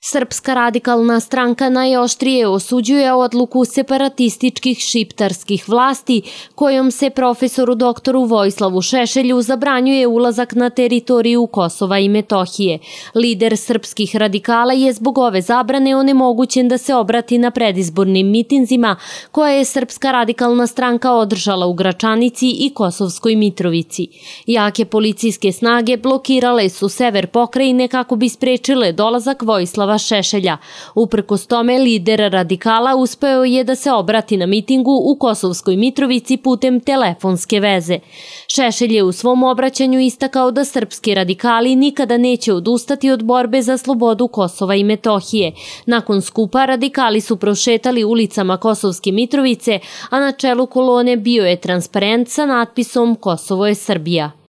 Srpska radikalna stranka najoštrije osuđuje odluku separatističkih šiptarskih vlasti kojom se profesoru doktoru Vojislavu Šešelju zabranjuje ulazak na teritoriju Kosova i Metohije. Lider srpskih radikala je zbog ove zabrane onemogućen da se obrati na predizbornim mitinzima koje je Srpska radikalna stranka održala u Gračanici i Kosovskoj Mitrovici. Jake policijske snage blokirale su sever pokrajine kako bi sprečile dolazak Vojislava Šešelja. Uprkos tome, lider radikala uspeo je da se obrati na mitingu u Kosovskoj Mitrovici putem telefonske veze. Šešelj je u svom obraćanju istakao da srpski radikali nikada neće odustati od borbe za slobodu Kosova i Metohije. Nakon skupa radikali su prošetali ulicama Kosovske Mitrovice, a na čelu kolone bio je transparent sa natpisom Kosovo je Srbija.